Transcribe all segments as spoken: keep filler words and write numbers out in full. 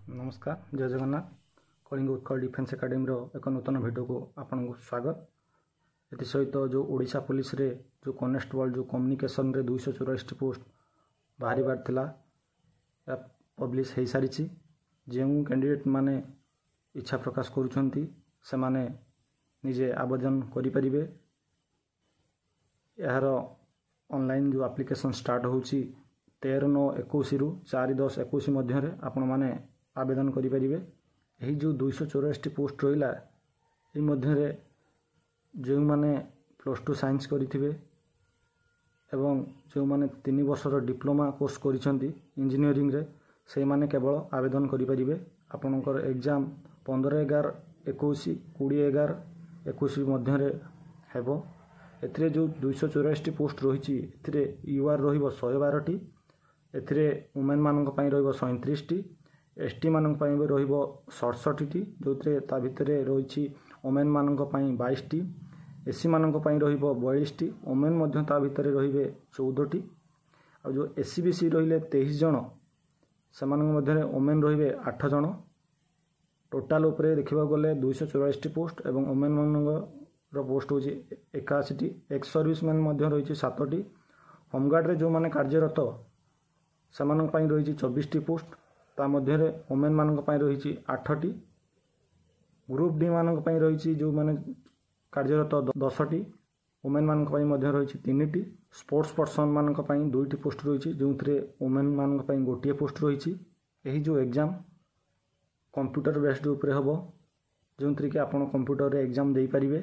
ନମସ୍କାର ଜୟ ଜଗନ୍ନାଥ କଳିଙ୍ଗ ଉତ୍କଳ ଡିଫେନ୍ସ ଏକାଡେମୀର ଏକ ନୂତନ ଭିଡ଼ିଓକୁ ଆପଣଙ୍କୁ ସ୍ୱାଗତ ଏଥିସହିତ ଯେଉଁ ଓଡ଼ିଶା ପୋଲିସରେ ଯେଉଁ କନେଷ୍ଟବଳ ଯେଉଁ କମ୍ୟୁନିକେସନରେ ଦୁଇଶହ ଚଉରାଳିଶଟି ପୋଷ୍ଟ ବାହାରିବାର ଥିଲା ଏହା ପବ୍ଲିଶ ହୋଇସାରିଛି ଯେଉଁ କ୍ୟାଣ୍ଡିଡେଟ୍ ମାନେ ଇଚ୍ଛା ପ୍ରକାଶ କରୁଛନ୍ତି ସେମାନେ ନିଜେ ଆବେଦନ କରିପାରିବେ ଏହାର ଅନଲାଇନ୍ ଯେଉଁ ଆପ୍ଲିକେସନ୍ ଷ୍ଟାର୍ଟ ହେଉଛି ତେର ନଅ ଏକୋଇଶରୁ ଚାରି ଦଶ ଏକୋଇଶ ମଧ୍ୟରେ ଆପଣମାନେ ଆବେଦନ କରିପାରିବେ ଏହି ଯେଉଁ ଦୁଇଶହ ଚଉରାଳିଶଟି ପୋଷ୍ଟ ରହିଲା ଏହି ମଧ୍ୟରେ ଯେଉଁମାନେ ପ୍ଲସ୍ ଟୁ ସାଇନ୍ସ କରିଥିବେ ଏବଂ ଯେଉଁମାନେ ତିନି ବର୍ଷର ଡିପ୍ଲୋମା କୋର୍ସ କରିଛନ୍ତି ଇଞ୍ଜିନିୟରିଂରେ ସେଇମାନେ କେବଳ ଆବେଦନ କରିପାରିବେ ଆପଣଙ୍କର ଏକ୍ଜାମ୍ ପନ୍ଦର ଏଗାର ଏକୋଇଶ କୋଡ଼ିଏ ଏଗାର ଏକୋଇଶ ମଧ୍ୟରେ ହେବ ଏଥିରେ ଯେଉଁ ଦୁଇଶହ ଚଉରାଳିଶଟି ପୋଷ୍ଟ ରହିଛି ଏଥିରେ you ଆର୍ ରହିବ ଶହେ ବାରଟି ଏଥିରେ ଓମେନ୍ମାନଙ୍କ ପାଇଁ ରହିବ ସଇଁତିରିଶଟି ଏସ୍ ଟି ମାନଙ୍କ ପାଇଁ ବି ରହିବ ସତଷଠିଟି ଯେଉଁଥିରେ ତା ଭିତରେ ରହିଛି ଓମେନ୍ମାନଙ୍କ ପାଇଁ ବାଇଶଟି ଏସ୍ ସି ମାନଙ୍କ ପାଇଁ ରହିବ ବୟାଳିଶଟି ଓମେନ୍ ମଧ୍ୟ ତା ଭିତରେ ରହିବେ ଚଉଦଟି ଆଉ ଯେଉଁ ଏସ୍ ଇ ବି ସି ରହିଲେ ତେଇଶ ଜଣ ସେମାନଙ୍କ ମଧ୍ୟରେ ଓମେନ୍ ରହିବେ ଆଠ ଜଣ ଟୋଟାଲ୍ ଉପରେ ଦେଖିବାକୁ ଗଲେ ଦୁଇଶହ ଚଉରାଳିଶଟି ପୋଷ୍ଟ ଏବଂ ଓମେନ୍ମାନଙ୍କର ପୋଷ୍ଟ ହେଉଛି ଏକାଅଶୀଟି ଏକ୍ସ ସର୍ଭିସମ୍ୟାନ୍ ମଧ୍ୟ ରହିଛି ସାତଟି ହୋମଗାର୍ଡ଼ରେ ଯେଉଁମାନେ କାର୍ଯ୍ୟରତ ସେମାନଙ୍କ ପାଇଁ ରହିଛି ଚବିଶଟି ପୋଷ୍ଟ ତା ମଧ୍ୟରେ ଓମେନ୍ମାନଙ୍କ ପାଇଁ ରହିଛି ଆଠଟି ଗ୍ରୁପ୍ ଡି ମାନଙ୍କ ପାଇଁ ରହିଛି ଯେଉଁମାନେ କାର୍ଯ୍ୟରତ ଦଶଟି ଓମେନ୍ମାନଙ୍କ ପାଇଁ ମଧ୍ୟ ରହିଛି ତିନିଟି ସ୍ପୋର୍ଟସ୍ ପର୍ସନମାନଙ୍କ ପାଇଁ ଦୁଇଟି ପୋଷ୍ଟ ରହିଛି ଯେଉଁଥିରେ ଓମେନ୍ମାନଙ୍କ ପାଇଁ ଗୋଟିଏ ପୋଷ୍ଟ ରହିଛି ଏହି ଯେଉଁ ଏକ୍ଜାମ୍ କମ୍ପ୍ୟୁଟର ବେସ୍ଡ ଉପରେ ହେବ ଯେଉଁଥିରେ କି ଆପଣ କମ୍ପ୍ୟୁଟରରେ ଏକ୍ଜାମ୍ ଦେଇପାରିବେ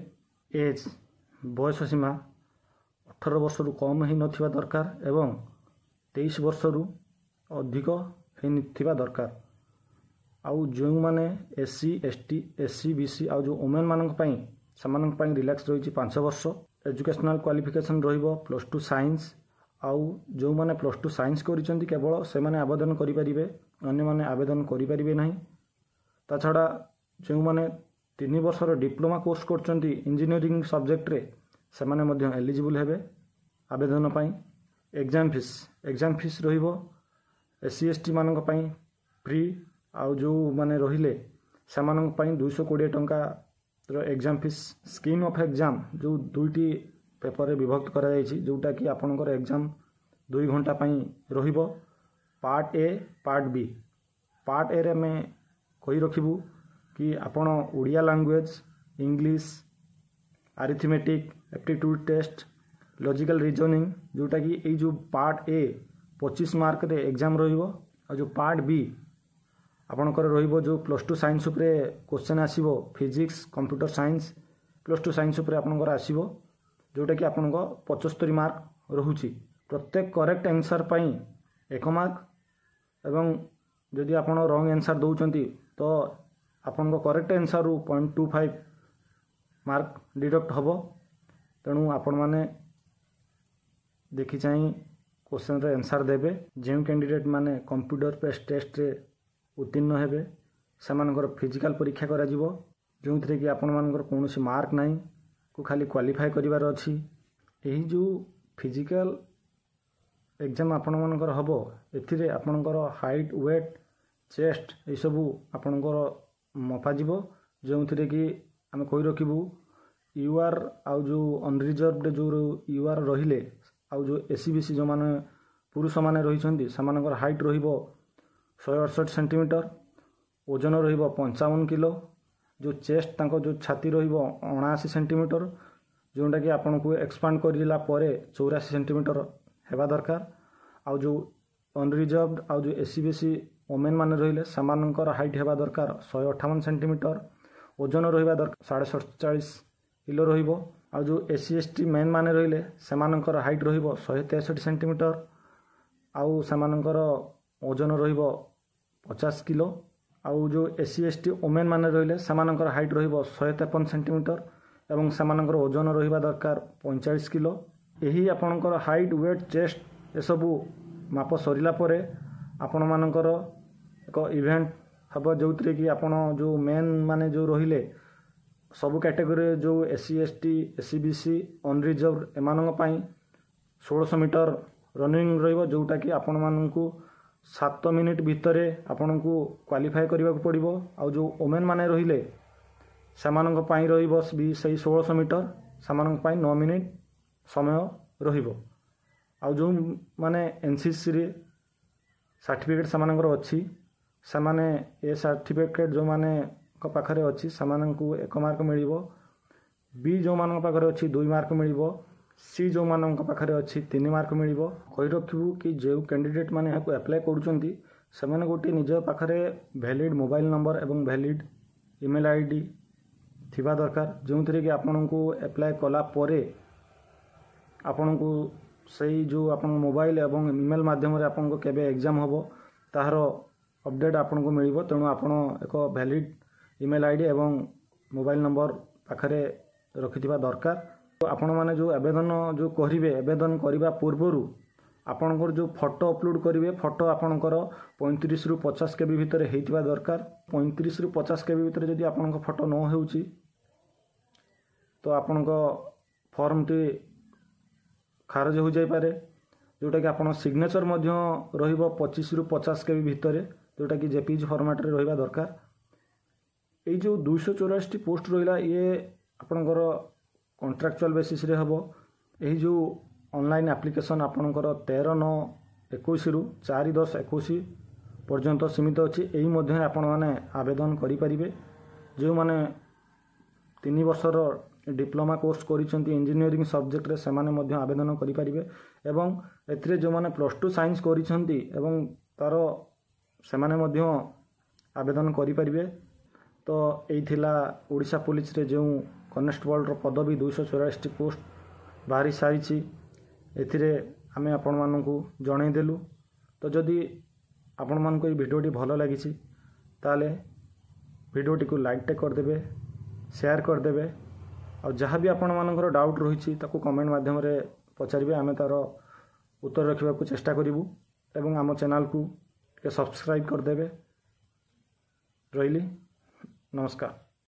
ଏଜ୍ ବୟସ ସୀମା ଅଠର ବର୍ଷରୁ କମ୍ ହେଇନଥିବା ଦରକାର ଏବଂ ତେଇଶ ବର୍ଷରୁ ଅଧିକ ହେଇଥିବା ଦରକାର ଆଉ ଯେଉଁମାନେ S C S T S E B C ଆଉ ଯେଉଁ ଓମେନ୍ମାନଙ୍କ ପାଇଁ ସେମାନଙ୍କ ପାଇଁ ରିଲାକ୍ସ ରହିଛି ପାଞ୍ଚ ବର୍ଷ ଏଜୁକେସନାଲ୍ କ୍ୱାଲିଫିକେସନ୍ ରହିବ ପ୍ଲସ୍ ଟୁ ସାଇନ୍ସ ଆଉ ଯେଉଁମାନେ ପ୍ଲସ୍ ଟୁ ସାଇନ୍ସ କରିଛନ୍ତି କେବଳ ସେମାନେ ଆବେଦନ କରିପାରିବେ ଅନ୍ୟମାନେ ଆବେଦନ କରିପାରିବେ ନାହିଁ ତା ଛଡ଼ା ଯେଉଁମାନେ ତିନି ବର୍ଷର ଡିପ୍ଲୋମା କୋର୍ସ କରୁଛନ୍ତି ଇଞ୍ଜିନିୟରିଂ ସବଜେକ୍ଟରେ ସେମାନେ ମଧ୍ୟ ଏଲିଜିବୁଲ୍ ହେବେ ଆବେଦନ ପାଇଁ ଏକ୍ଜାମ୍ ଫିସ୍ ଏକ୍ଜାମ୍ ଫିସ୍ ରହିବ ଏସ୍ ସି ଏସ୍ ଟି ମାନଙ୍କ ପାଇଁ ଫ୍ରି ଆଉ ଯେଉଁମାନେ ରହିଲେ ସେମାନଙ୍କ ପାଇଁ ଦୁଇଶହ କୋଡ଼ିଏ ଟଙ୍କାର exam fees scheme of exam ଯେଉଁ ଦୁଇଟି ପେପରରେ ବିଭକ୍ତ କରାଯାଇଛି ଯେଉଁଟାକି ଆପଣଙ୍କର ଏକ୍ଜାମ୍ ଦୁଇ ଘଣ୍ଟା ପାଇଁ ରହିବ ପାର୍ଟ ଏ ପାର୍ଟ ବି ପାର୍ଟ ଏରେ ଆମେ କହି ରଖିବୁ କି ଆପଣ Odia language English arithmetic aptitude test logical reasoning ଯେଉଁଟାକି ଏଇ ଯେଉଁ ପାର୍ଟ ଏ ପଚିଶ ମାର୍କରେ ଏକ୍ଜାମ୍ ରହିବ ଆଉ ଯେଉଁ ପାର୍ଟ ବି ଆପଣଙ୍କର ରହିବ ଯେଉଁ ପ୍ଲସ୍ ଟୁ ସାଇନ୍ସ ଉପରେ କୋଶ୍ଚେନ୍ ଆସିବ physics computer science plus two science ଉପରେ ଆପଣଙ୍କର ଆସିବ ଯେଉଁଟାକି ଆପଣଙ୍କ ପଚସ୍ତରୀ ମାର୍କ ରହୁଛି ପ୍ରତ୍ୟେକ କରେକ୍ଟ ଆନ୍ସର୍ ପାଇଁ ଏକ ମାର୍କ ଏବଂ ଯଦି ଆପଣ ରଙ୍ଗ ଆନ୍ସର୍ ଦେଉଛନ୍ତି ତ ଆପଣଙ୍କ correct ଆନ୍ସର୍ରୁ point two five mark deduct ହେବ ତେଣୁ ଆପଣମାନେ ଦେଖି ଚାହିଁ କୋଶ୍ଚେନ୍ର ଆନ୍ସର୍ ଦେବେ ଯେଉଁ କ୍ୟାଣ୍ଡିଡେଟ୍ ମାନେ କମ୍ପ୍ୟୁଟର ବେସ୍ ଟେଷ୍ଟରେ ଉତ୍ତୀର୍ଣ୍ଣ ହେବେ ସେମାନଙ୍କର ଫିଜିକାଲ୍ ପରୀକ୍ଷା କରାଯିବ ଯେଉଁଥିରେ କି ଆପଣମାନଙ୍କର କୌଣସି ମାର୍କ ନାହିଁ କୁ ଖାଲି କ୍ୱାଲିଫାଏ କରିବାର ଅଛି ଏହି ଯେଉଁ ଫିଜିକାଲ୍ ଏକ୍ଜାମ୍ ଆପଣମାନଙ୍କର ହେବ ଏଥିରେ ଆପଣଙ୍କର ହାଇଟ୍ ୱେଟ୍ ଚେଷ୍ଟ ଏସବୁ ଆପଣଙ୍କର ମପାଯିବ ଯେଉଁଥିରେ କି ଆମେ କହି ରଖିବୁ you ଆର୍ ଆଉ ଯେଉଁ ଅନରିଜର୍ଭଡ ଯେଉଁ you ଆର୍ ରହିଲେ ଆଉ ଯେଉଁ ଏସ୍ ଇ ବି ସି ଯେଉଁମାନେ ପୁରୁଷମାନେ ରହିଛନ୍ତି ସେମାନଙ୍କର ହାଇଟ୍ ରହିବ ଶହେ ଅଠଷଠି ସେଣ୍ଟିମିଟର ଓଜନ ରହିବ ପଞ୍ଚାବନ କିଲୋ ଯେଉଁ ଚେଷ୍ଟ ତାଙ୍କ ଯେଉଁ ଛାତି ରହିବ ଅଣାଅଶୀ ସେଣ୍ଟିମିଟର ଯେଉଁଟାକି ଆପଣଙ୍କୁ ଏକ୍ସପାଣ୍ଡ କରିଲା ପରେ ଚଉରାଅଶୀ ସେଣ୍ଟିମିଟର ହେବା ଦରକାର ଆଉ ଯେଉଁ ଅନରିଜର୍ଭଡ ଆଉ ଯେଉଁ S E B C women ମାନେ ରହିଲେ ସେମାନଙ୍କର ହାଇଟ୍ ହେବା ଦରକାର ଶହେ ଅଠାବନ ସେଣ୍ଟିମିଟର ଓଜନ ରହିବା ଦରକାର ସାଢ଼େ ସତଚାଳିଶ କିଲୋ ରହିବ ଆଉ ଯେଉଁ S C S T main ମାନେ ରହିଲେ ସେମାନଙ୍କର ହାଇଟ୍ ରହିବ ଶହେ ତେଷଠି ସେଣ୍ଟିମିଟର ଆଉ ସେମାନଙ୍କର ଓଜନ ରହିବ ପଚାଶ କିଲୋ ଆଉ ଯେଉଁ S C S T women ମାନେ ରହିଲେ ସେମାନଙ୍କର ହାଇଟ୍ ରହିବ ଶହେ ତେପନ ସେଣ୍ଟିମିଟର ଏବଂ ସେମାନଙ୍କର ଓଜନ ରହିବା ଦରକାର ପଇଁଚାଳିଶ କିଲୋ ଏହି ଆପଣଙ୍କର ହାଇଟ୍ ୱେଟ୍ ଚେଷ୍ଟ ଏସବୁ ମାପ ସରିଲା ପରେ ଆପଣମାନଙ୍କର ଏକ ଇଭେଣ୍ଟ ହେବ ଯେଉଁଥିରେ କି ଆପଣ ଯେଉଁ ମେନ୍ ମାନେ ଯେଉଁ ରହିଲେ ସବୁ କ୍ୟାଟେଗୋରୀରେ ଯେଉଁ S C S T S E B C unreserved ଏମାନଙ୍କ ପାଇଁ ଷୋଳଶହ ମିଟର ରନିଂ ରହିବ ଯେଉଁଟାକି ଆପଣମାନଙ୍କୁ ସାତ ମିନିଟ୍ ଭିତରେ ଆପଣଙ୍କୁ କ୍ୱାଲିଫାଏ କରିବାକୁ ପଡ଼ିବ। ଆଉ ଯେଉଁ ଓମେନ୍ ମାନେ ରହିଲେ, ସେମାନଙ୍କ ପାଇଁ ରହିବ ବି ସେଇ ଷୋଳଶହ ମିଟର, ସେମାନଙ୍କ ପାଇଁ ନଅ ମିନିଟ୍ ସମୟ ରହିବ। ଆଉ ଯେଉଁମାନେ ଏନ୍ସିସିରେ ସାର୍ଟିଫିକେଟ୍ ସେମାନଙ୍କର ଅଛି, ସେମାନେ ଏ ସାର୍ଟିଫିକେଟ୍ ଯେଉଁମାନଙ୍କ ପାଖରେ ଅଛି, ସେମାନଙ୍କୁ ଏକ ମାର୍କ ମିଳିବ। ବି ଯେଉଁମାନଙ୍କ ପାଖରେ ଅଛି, ଦୁଇ ମାର୍କ ମିଳିବ। ସି ଯେଉଁମାନଙ୍କ ପାଖରେ ଅଛି, ତିନି ମାର୍କ ମିଳିବ। କହି ରଖିବୁ କି ଯେଉଁ କ୍ୟାଣ୍ଡିଡେଟ୍ ମାନେ ଏହାକୁ ଆପ୍ଲାଏ କରୁଛନ୍ତି, ସେମାନେ ଗୋଟିଏ ନିଜ ପାଖରେ ଭ୍ୟାଲିଡ଼ ମୋବାଇଲ ନମ୍ବର ଏବଂ ଭ୍ୟାଲିଡ଼ ଇମେଲ୍ I D ଥିବା ଦରକାର, ଯେଉଁଥିରେ କି ଆପଣଙ୍କୁ ଆପ୍ଲାଏ କଲା ପରେ ଆପଣଙ୍କୁ ସେଇ ଯେଉଁ ଆପଣଙ୍କ ମୋବାଇଲ ଏବଂ ଇମେଲ୍ ମାଧ୍ୟମରେ ଆପଣଙ୍କ କେବେ ଏକ୍ଜାମ୍ ହେବ, ତାହାର ଅପଡ଼େଟ୍ ଆପଣଙ୍କୁ ମିଳିବ। ତେଣୁ ଆପଣ ଏକ ଭ୍ୟାଲିଡ଼ ଇମେଲ୍ I D ଏବଂ ମୋବାଇଲ ନମ୍ବର ପାଖରେ ରଖିଥିବା ଦରକାର। ଆପଣମାନେ ଯେଉଁ ଆବେଦନ ଯେଉଁ କରିବେ, ଆବେଦନ କରିବା ପୂର୍ବରୁ ଆପଣଙ୍କର ଯେଉଁ ଫଟୋ ଅପଲୋଡ଼ କରିବେ, ଫଟୋ ଆପଣଙ୍କର ପଇଁତିରିଶରୁ ପଚାଶ କେବି ଭିତରେ ହେଇଥିବା ଦରକାର। ପଇଁତିରିଶରୁ ପଚାଶ କେବି ଭିତରେ ଯଦି ଆପଣଙ୍କ ଫଟୋ ନ ହେଉଛି, ତ ଆପଣଙ୍କ ଫର୍ମଟି ଖାରଜ ହୋଇଯାଇପାରେ। ଯେଉଁଟାକି ଆପଣ ସିଗ୍ନେଚର୍ ମଧ୍ୟ ରହିବ ପଚିଶରୁ ପଚାଶ କେବି ଭିତରେ, ଯେଉଁଟାକି ଜେପିଜି ଫର୍ମାଟ୍ରେ ରହିବା ଦରକାର। ଏଇ ଯେଉଁ ଦୁଇଶହ ଚଉରାଅଶୀଟି ପୋଷ୍ଟ ରହିଲା, ଇଏ ଆପଣଙ୍କର କଣ୍ଟ୍ରାକ୍ଚୁଆଲ୍ ବେସିସ୍ରେ ହେବ। ଏହି ଯେଉଁ ଅନଲାଇନ୍ ଆପ୍ଲିକେସନ୍ ଆପଣଙ୍କର ତେର ନଅ ଏକୋଇଶରୁ ଚାରି ଦଶ ଏକୋଇଶ ପର୍ଯ୍ୟନ୍ତ ସୀମିତ ଅଛି। ଏହି ମଧ୍ୟରେ ଆପଣମାନେ ଆବେଦନ କରିପାରିବେ। ଯେଉଁମାନେ ତିନି ବର୍ଷର ଡିପ୍ଲୋମା କୋର୍ସ କରିଛନ୍ତି ଇଞ୍ଜିନିୟରିଂ ସବଜେକ୍ଟରେ, ସେମାନେ ମଧ୍ୟ ଆବେଦନ କରିପାରିବେ ଏବଂ ଏଥିରେ ଯେଉଁମାନେ ପ୍ଲସ୍ ଟୁ ସାଇନ୍ସ କରିଛନ୍ତି ଏବଂ ତା'ର ସେମାନେ ମଧ୍ୟ ଆବେଦନ କରିପାରିବେ। ତ ଏଇ ଥିଲା ଓଡ଼ିଶା ପୋଲିସରେ ଯେଉଁ କନେଷ୍ଟବଳର ପଦବୀ ଦୁଇଶହ ଚଉରାଳିଶଟି ପୋଷ୍ଟ ବାହାରି ସାରିଛି, ଏଥିରେ ଆମେ ଆପଣମାନଙ୍କୁ ଜଣାଇଦେଲୁ। ତ ଯଦି ଆପଣମାନଙ୍କୁ ଏଇ ଭିଡ଼ିଓଟି ଭଲ ଲାଗିଛି, ତାହେଲେ ଭିଡ଼ିଓଟିକୁ ଲାଇକ୍ଟେ କରିଦେବେ, ସେୟାର କରିଦେବେ ଆଉ ଯାହା ବି ଆପଣମାନଙ୍କର ଡାଉଟ୍ ରହିଛି, ତାକୁ କମେଣ୍ଟ ମାଧ୍ୟମରେ ପଚାରିବେ। ଆମେ ତା'ର ଉତ୍ତର ରଖିବାକୁ ଚେଷ୍ଟା କରିବୁ ଏବଂ ଆମ ଚ୍ୟାନେଲକୁ ଟିକେ ସବସ୍କ୍ରାଇବ୍ କରିଦେବେ। ରହିଲି, ନମସ୍କାର।